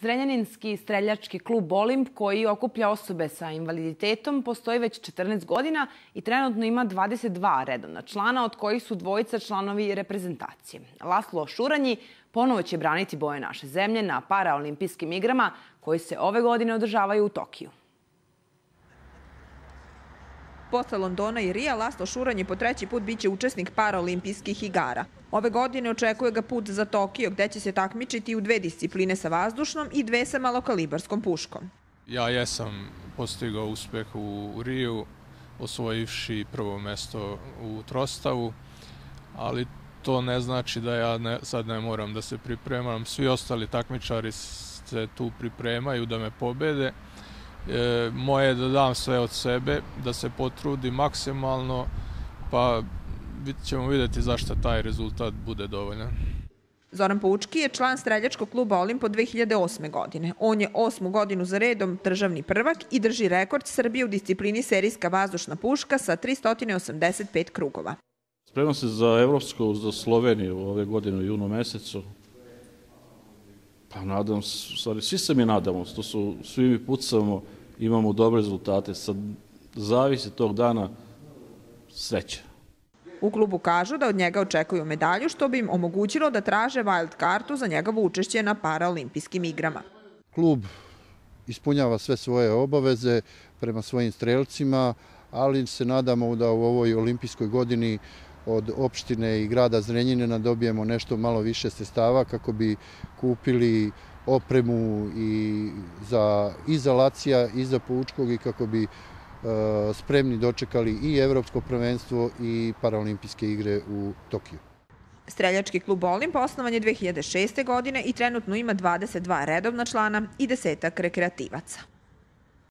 Zrenjaninski streljački klub Olimp, koji okuplja osobe sa invaliditetom, postoji već 14 godina i trenutno ima 22 redovna člana, od kojih su dvojica članovi reprezentacije. Laslo Šuranji ponovo će braniti boje naše zemlje na paraolimpijskim igrama koji se ove godine održavaju u Tokiju. Posle Londona i Rija, Laslo Šuranji po treći put biće učesnik paraolimpijskih igara. Ove godine očekuje ga put za Tokio, gde će se takmičiti u 2 discipline sa vazdušnom i 2 sa malokalibarskom puškom. Ja jesam postigao uspeh u Riju, osvojivši prvo mesto u trostavu, ali to ne znači da ja sad ne moram da se pripremam. Svi ostali takmičari se tu pripremaju da me pobede. Moje je da dam sve od sebe, da se potrudim maksimalno, pa ćemo vidjeti zašto taj rezultat bude dovoljan. Zoran Poučki je član streljačkog kluba Olimp od 2008. godine. On je 8. godinu za redom državni prvak i drži rekord Srbije u disciplini serijska vazdušna puška sa 385 krugova. Spremam se za Evropsku, za Sloveniju ove godine u junu mesecu. Pa nadam se, svi se mi nadamo, svi mi pucamo, imamo dobre rezultate. Sad zavisi tog dana sreće. U klubu kažu da od njega očekuju medalju, što bi im omogućilo da traže wild kartu za njegovo učešće na paraolimpijskim igrama. Klub ispunjava sve svoje obaveze prema svojim strelcima, ali se nadamo da u ovoj olimpijskoj godini od opštine i grada Zrenjanina dobijemo nešto malo više sredstava kako bi kupili opremu i za Lacija i za Poučkog i kako bi spremni dočekali i evropsko prvenstvo i paraolimpijske igre u Tokiju. Streljački klub Olimp osnovan je 2006. godine i trenutno ima 22 redovna člana i 10-ak rekreativaca.